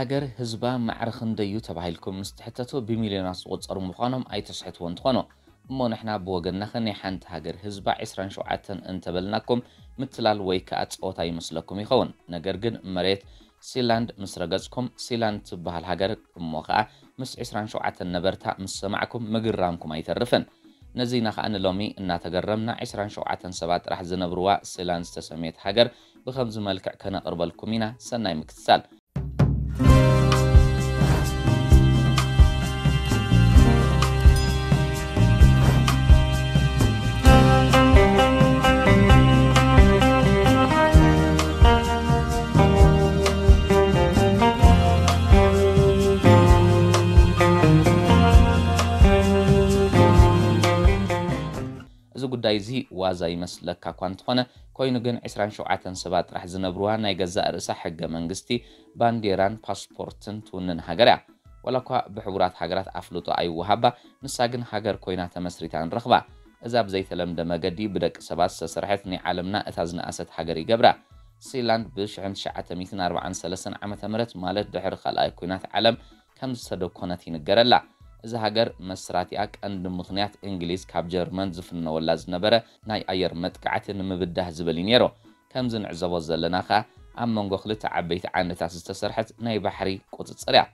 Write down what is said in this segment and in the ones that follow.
ሃገር ህዝባ ማዕረ ክንደይ እዩ ተባሂልኩም ምስ ትሕተቱ፣ ብሚልዮናት ዝቑጸሩ ምዃኖም ኣይተስሕትዎን ትኾኑ። እሞ ንሕና ብወገንና ኸ ናይ ሓንቲ ሃገር ህዝባ ዕስራን ሸውዓተን እንተበልናኩም፣ ምትላል ወይ ከኣ ጸወታ ይመስለኩም ይኸውን። ነገር ግን መሬት ሲላንድ ምስ ረገጽኩም፣ ሲላንድ ትበሃል ሃገር እሞ ኸኣ ምስ ዕስራን ሸውዓተን ነበርታ ምስ ሰማዕኩም፣ ምግራምኩም ኣይተርፍን። ነዚና ኸኣ ንሎሚ እናተገረምና፣ ዕስራን ሸውዓተን ሰባት ጥራሕ ዝነብርዋ ሲላንድ ዝተሰምየት ሃገር ብኸምዚ መልክዕ ከነቕርበልኩም ኢና። ሰናይ ምክትታል። እዚ ጉዳይ እዚ ዋዛ ይመስለካ እኳ እንተኾነ፣ ኮይኑ ግን ዕስራን ሸውዓተን ሰባት ጥራሕ ዝነብርዋ ናይ ገዛእ ርእሳ ሕገ መንግስቲ፣ ባንዴራን ፓስፖርትን ትውንን ሃገር እያ። ዋላ እኳ ብሕቡራት ሃገራት ኣፍልጦ ኣይወሃባ፣ ንሳ ግን ሃገር ኮይና ተመስሪታ ንረኽባ። እዛ ብዘይተለምደ መገዲ ብደቂ ሰባት ዝተሰርሐት ናይ ዓለምና እታ ዝነኣሰት ሃገር ይገብራ። ሲላንድ ብሽሕን ትሽዓተ ሚእትን ኣርባዓን ሰለስተን ዓመተ ምህረት፣ ማለት ድሕሪ ካልኣይ ኲናት ዓለም፣ ከም ዝተደኮነት ይንገረላ። እዛ ሃገር መስራቲኣ ቀንዲ ምኽንያት እንግሊዝ ካብ ጀርመን ዝፍነወላ ዝነበረ ናይ ኣየር መጥቃዕቲ ንምብዳህ ዝብል እዩ ነይሩ። ከምዚ ንዕዘቦ ዘለና ኸኣ ኣብ መንጎ ክልተ ዓበይቲ ዓንድታት ዝተሰርሐት ናይ ባሕሪ ቁጽጽር እያ።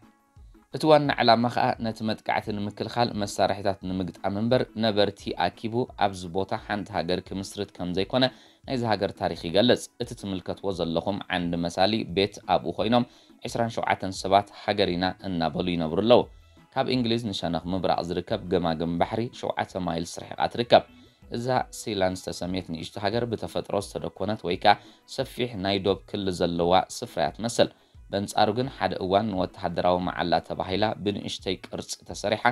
እቲ ዋና ዕላማ ኸኣ ነቲ መጥቃዕቲ ንምክልኻል መሳርሒታት ንምግጣም እምበር ነበርቲ ኣኪቡ ኣብዚ ቦታ ሓንቲ ሃገር ክምስርት ከም ዘይኮነ ናይዚ ሃገር ታሪኽ ይገልጽ። እቲ ትምልከትዎ ዘለኹም ዓንዲ መሳሊ ቤት ኣብኡ ኮይኖም ዕስራን ሸውዓተን ሰባት ሃገር ኢና እናበሉ ይነብሩ ኣለዉ። ካብ እንግሊዝ ንሸነኽ ምብራቕ ዝርከብ ገማግም ባሕሪ ሸውዓተ ማይልስ ርሒቓ ትርከብ። እዛ ሲላንድ ዝተሰምየት ንእሽቶ ሃገር ብተፈጥሮ ዝተደኮነት ወይ ከኣ ሰፊሕ ናይ ዶብ ክሊ ዘለዋ ስፍራ እያ ትመስል። በንጻሩ ግን ሓደ እዋን ንወተሃደራዊ መዓላ ተባሂላ ብንእሽተይ ቅርጺ ተሰሪሓ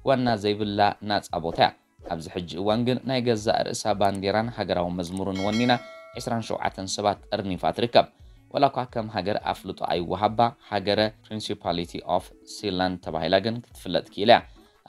ዋና ዘይብላ ናጻ ቦታ እያ። ኣብዚ ሕጂ እዋን ግን ናይ ገዛእ ርእሳ ባንዴራን ሃገራዊ መዝሙርን ወኒና ዕስራን ሸውዓተን ሰባት ጠርኒፋ ትርከብ። ዋላ እኳ ከም ሃገር ኣፍልጦ ኣይወሃባ፣ ሃገረ ፕሪንሲፓሊቲ ኦፍ ሲላንድ ተባሂላ ግን ክትፍለጥ ክኢላ እያ።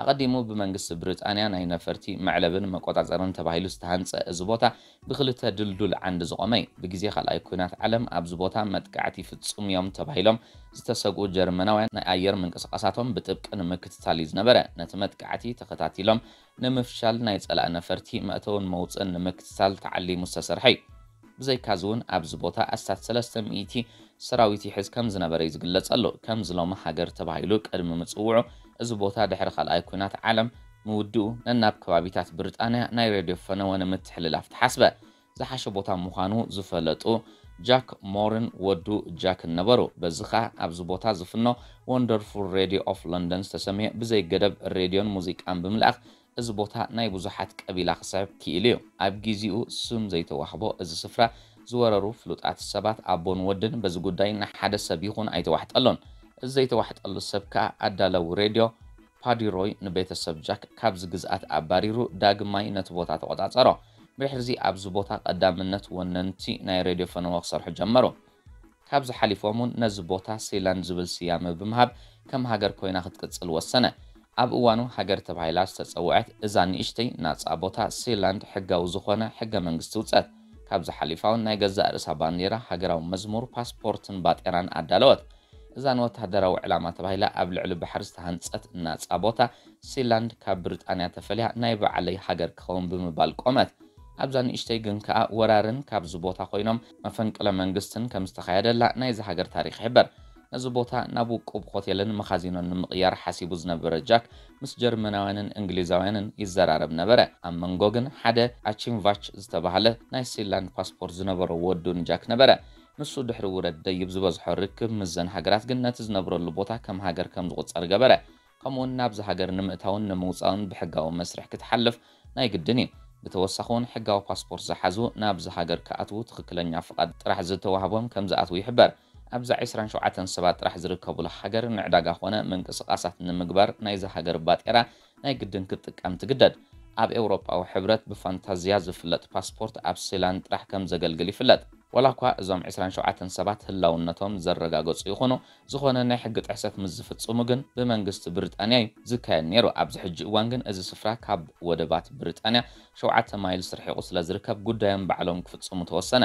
ኣቐዲሙ ብመንግስቲ ብሪጣንያ ናይ ነፈርቲ መዕለብን መቆጻጸርን ተባሂሉ ዝተሃንጸ እዚ ቦታ ብኽልተ ድልዱል ዓንዲ ዝቖመ እዩ። ብግዜ ካልኣይ ኲናት ዓለም ኣብዚ ቦታ መጥቃዕቲ ይፍጽሙ እዮም ተባሂሎም ዝተሰግኡ ጀርመናውያን ናይ ኣየር ምንቅስቓሳቶም ብጥብቂ ንምክትታል እዩ ዝነበረ። ነቲ መጥቃዕቲ ተኸታቲሎም ንምፍሻል ናይ ጸላኢ ነፈርቲ መእተውን መውጽእን ንምክትታል ተዓሊሙ ዝተሰርሐ እዩ። ብዘይካዚ እውን ኣብዚ ቦታ ኣስታት ሰለስተ ሚእቲ ሰራዊት ይሕዝ ከም ዝነበረ እዩ ዝግለጸሉ። ከምዚ ሎሚ ሃገር ተባሂሉ ቅድሚ ምጽውዑ፣ እዚ ቦታ ድሕሪ ካልኣይ ኲናት ዓለም ምውድኡ ነናብ ከባቢታት ብሪጣንያ ናይ ሬድዮ ፈነወ ንምትሕልላፍ ተሓስበ። ዝሓሸ ቦታ ምዃኑ ዝፈለጡ ጃክ ሞርን ወዱ ጃክን ነበሩ። በዚ ኸኣ ኣብዚ ቦታ ዝፍኖ ወንደርፉል ሬድዮ ኦፍ ለንደን ዝተሰምየ ብዘይገደብ ሬድዮን ሙዚቃን ብምልኣኽ፣ እዚ ቦታ ናይ ብዙሓት ቀቢላ ክስዕብ ክኢሉ እዩ። ኣብ ግዜኡ ስም ዘይተዋህቦ እዚ ስፍራ ዝወረሩ ፍሉጣት ሰባት ኣቦን ወድን በዚ ጉዳይ ንሓደ ሰብ ይኹን ኣይተዋሕጠሉን። እዚ ዘይተዋሕጠሉ ሰብ ከኣ ኣዳለዊ ሬድዮ ፓዲሮይ ንቤተሰብ ጃክ ካብዚ ግዝኣት ኣባሪሩ ዳግማይ ነቲ ቦታ ተቖጻጸሮ። ብድሕርዚ ኣብዚ ቦታ ቀዳምነት ወነንቲ ናይ ሬድዮ ፈነወ ክሰርሑ ጀመሩ። ካብዚ ሓሊፎም እውን ነዚ ቦታ ሲላንድ ዝብል ስያመ ብምሃብ ከም ሃገር ኮይና ክትቅጽል ወሰነ። ኣብ እዋኑ ሃገር ተባሂላ ዝተጸውዐት እዛ ንእሽተይ ናጻ ቦታ ሲላንድ ሕጋዊ ዝኾነ ሕገ መንግስቲ ውጸት። ካብዚ ሓሊፋ እውን ናይ ገዛእ ርእሳ ባንዴራ፣ ሃገራዊ መዝሙር፣ ፓስፖርትን ባጤራን ኣዳለወት። እዛ ንወተሃደራዊ ዕላማ ተባሂላ ኣብ ልዕሊ ባሕሪ ዝተሃንጸት ናጻ ቦታ ሲላንድ ካብ ብሪጣንያ ተፈልያ ናይ ባዕለይ ሃገር ክኸውን ብምባል ቆመት። ኣብዛ ንእሽተይ ግን ከኣ ወራርን ካብዚ ቦታ ኮይኖም መፈንቅለ መንግስትን ከም ዝተኻየደላ ናይዚ ሃገር ታሪኽ ይሕበር። ነዚ ቦታ ናብ ውቁብ ሆቴልን መኻዚኖን ንምቕያር ሓሲቡ ዝነበረ ጃክ ምስ ጀርመናውያንን እንግሊዛውያንን ይዘራረብ ነበረ። ኣብ መንጎ ግን ሓደ ኣቺንቫች ዝተባህለ ናይ ሲላንድ ፓስፖርት ዝነበሮ ወዱ ንጃክ ነበረ። ንሱ ድሕሪ ውረድ ደይብ ዝበዝሖ ርክብ ምስዘን ሃገራት ግን ነቲ ዝነብረሉ ቦታ ከም ሃገር ከም ዝቑጸር ገበረ። ከምኡውን ናብዚ ሃገር ንምእታውን ንምውጻውን ብሕጋዊ መስርሕ ክትሓልፍ ናይ ግድን እዩ። ብተወሳኺ እውን ሕጋዊ ፓስፖርት ዝሓዙ ናብዚ ሃገር ክኣትዉ ትኽክለኛ ፍቓድ ጥራሕ ዝተዋህቦም ከም ዝኣትዉ ይሕበር። ኣብዛ ዕስራን ሸውዓተን ሰባት ጥራሕ ዝርከቡላ ሃገር ንዕዳጋ ኾነ ምንቅስቓሳት ንምግባር ናይዚ ሃገር ባጤራ ናይ ግድን ክትጥቀም ትግደድ። ኣብ ኤውሮጳዊ ሕብረት ብፋንታዝያ ዝፍለጥ ፓስፖርት ኣብ ሲላንድ ጥራሕ ከም ዘገልግል ይፍለጥ። ዋላ እኳ እዞም ዕስራን ሸውዓተን ሰባት ህላውነቶም ዘረጋገጹ ይኹኑ፣ ዝኾነ ናይ ሕጊ ጥሕሰት ምስ ዝፍጽሙ ግን ብመንግስቲ ብሪጣንያ እዩ ዝካየድ ነይሩ። ኣብዚ ሕጂ እዋን ግን እዚ ስፍራ ካብ ወደባት ብሪጣንያ ሸውዓተ ማይልስ ርሒቑ ስለ ዝርከብ ጉዳዮም ባዕሎም ክፍጽሙ ተወሰነ።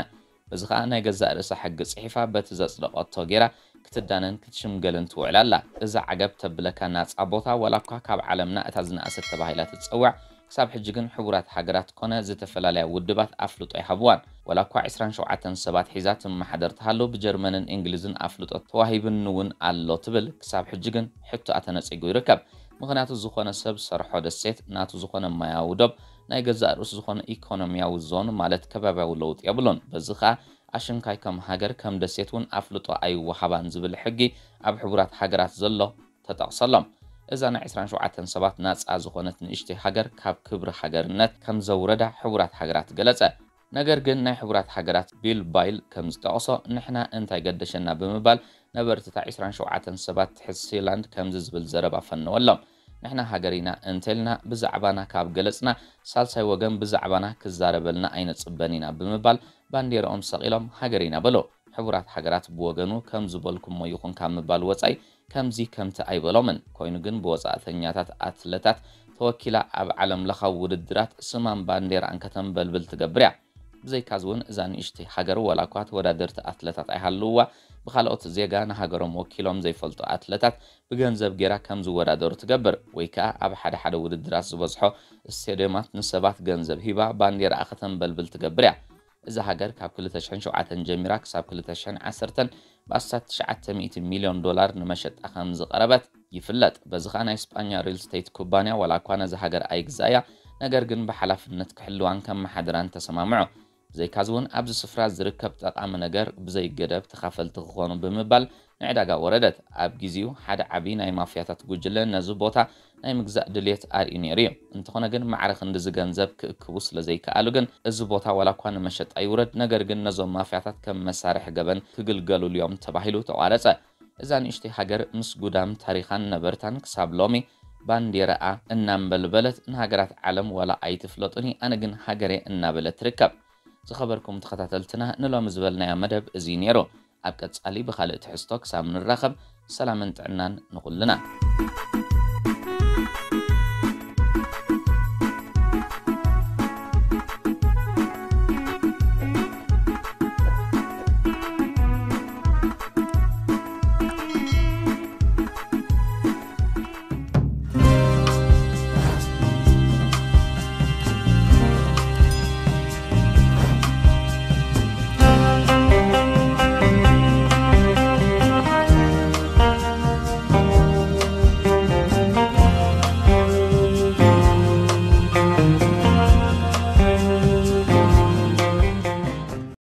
በዚ ኸኣ ናይ ገዛእ ርእሳ ሕጊ ጽሒፋ በቲ ዘጽደቐቶ ጌራ ክትዳነን ክትሽምገልን ትውዕል ኣላ። እዛ ዓገብ ተብለካ ናጻ ቦታ ዋላ እኳ ካብ ዓለምና እታ ዝነኣሰት ተባሂላ ትጸዋዕ፣ ክሳብ ሕጂ ግን ሕቡራት ሃገራት ኮነ ዝተፈላለያ ውድባት ኣፍልጦ ይሃብዋን። ዋላ እኳ ዕስራን ሸውዓተን ሰባት ሒዛ ትመሓደር ትሃሉ፣ ብጀርመንን እንግሊዝን ኣፍልጦ ተዋሂብኒ እውን ኣሎ ትብል፣ ክሳብ ሕጂ ግን ሕቶኣ ተነጺጉ ይርከብ። ምኽንያቱ ዝኾነ ሰብ ሰርሖ ደሴት፣ ናቱ ዝኾነ ማያዊ ዶብ፣ ናይ ገዛእ ርእሱ ዝኾነ ኢኮኖሚያዊ ዞን ማለት ከባቢያዊ ለውጢ የብሉን። በዚ ኸኣ ኣሽንካይ ከም ሃገር ከም ደሴት እውን ኣፍልጦ ኣይወሃባን ዝብል ሕጊ ኣብ ሕቡራት ሃገራት ዘሎ ተጠቕሰሎም። እዛ ናይ ዕስራን ሸውዓተን ሰባት ናጻ ዝኾነት ንእሽተይ ሃገር ካብ ክብሪ ሃገርነት ከም ዘውረዳ ሕቡራት ሃገራት ገለጸ። ነገር ግን ናይ ሕቡራት ሃገራት ቢል ባይል ከም ዝጠቕሶ ንሕና እንታይ ገደሸና ብምባል ነበርቲ እታ ዕስራን ሸውዓተን ሰባት ትሕት ሲላንድ ከምዚ ዝብል ዘረባ ፈነወሎም። ንሕና ሃገር ኢና እንተልና ብዛዕባና ካብ ገለጽና ሳልሳይ ወገን ብዛዕባና ክዛረበልና ኣይነጽበን ኢና ብምባል ባንዴርኦም ሰቒሎም ሃገር ኢና በሉ። ሕቡራት ሃገራት ብወገኑ ከም ዝበልኩሞ ይኹን ካብ ምባል ወጻኢ ከምዚ ከምቲ ኣይበሎምን። ኮይኑ ግን ብወጻእተኛታት ኣትለታት ተወኪላ ኣብ ዓለም ለኻዊ ውድድራት ስማን ባንዴራኣን ከተንበልብል ትገብር እያ። ብዘይካዚ እውን እዛ ንእሽተይ ሃገር ዋላ እኳ ተወዳደርቲ ኣትለታት ኣይሃልውዋ ብኻልኦት ዜጋ ንሃገሮም ወኪሎም ዘይፈልጡ ኣትለታት ብገንዘብ ጌራ ከም ዝወዳደሩ ትገብር ወይ ከኣ ኣብ ሓደ ሓደ ውድድራት ዝበዝሖ ስቴድዮማት ንሰባት ገንዘብ ሂባ ባንዴራኣ ከተንበልብል ትገብር እያ። እዛ ሃገር ካብ ክልተ ሽሕን ሸውዓተን ጀሚራ ክሳብ ክልተ ሽሕን ዓሰርተን ብኣስታት ትሽዓተ ሚእቲ ሚልዮን ዶላር ንመሸጣ ከም ዝቐረበት ይፍለጥ። በዚ ኸኣ ናይ ስጳኛ ሪል ስቴት ኩባንያ ዋላ እኳ ነዛ ሃገር ኣይግዛእያ፣ ነገር ግን ብሓላፍነት ክሕልዋን ከመሓድራን ተሰማምዑ። ብዘይካዚ እውን ኣብዚ ስፍራ ዝርከብ ጠቓሚ ነገር ብዘይ ገደብ ተኻፈልቲ ክኾኑ ብምባል ንዕዳጋ ወረደት። ኣብ ግዜኡ ሓደ ዓቢ ናይ ማፍያታት ጉጅለ ነዚ ቦታ ናይ ምግዛእ ድልየት ኣርእዩ ነይሩ እዩ። እንተኾነ ግን ማዕረ ክንድዚ ገንዘብ ክእክቡ ስለ ዘይከኣሉ ግን እዚ ቦታ ዋላ እኳ ንመሸጣ ይውረድ፣ ነገር ግን ነዞም ማፍያታት ከም መሳርሒ ገበን ክግልገሉሉ እዮም ተባሂሉ ተቋረጸ። እዛ ንእሽተይ ሃገር ምስ ጉዳም ታሪኻን ነበርታን ክሳብ ሎሚ ባንዴራኣ እናንበልበለት ንሃገራት ዓለም ዋላ ኣይትፍለጡኒ ኣነ ግን ሃገሬ እናበለት ትርከብ። ዝኸበርኩም ተኸታተልትና ንሎሚ ዝበልናዮ መደብ እዚ ነይሩ። ኣብ ቀጻሊ ብኻልእ ትሕዝቶ ክሳብ ንራኸብ ሰላምን ጥዕናን ንኹልና።